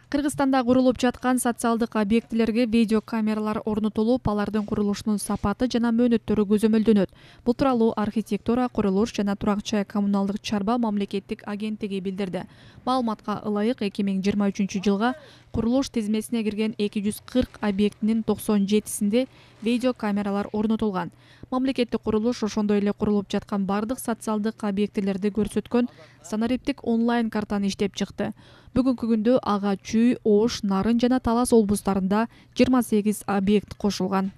Кыргызстанда курулуп жаткан социалдык объектилерге видео камералар орнотулуп, алардын курулушунун сапаты жана мөөнөттөрү көзөмөлдөнөт. Бул тууралуу архитектура, курулуш жана турак-жай коммуналдык чарба мамлекеттик агенттиги билдирди. Маалыматка ылайык 2023-жылга курулуш тизмесине кирген 240 объектинин 97синде видео камералар орнотулган. Мамлекеттик курулуш ошондой эле курулуп жаткан бардык социалдык объектилерди көрсөткөн санариптик онлайн картаны иштеп чыкты. Бүгүнкү күндө ага Чүй, Ош, Нарын жана Талас облустарында 28 объект кошулган.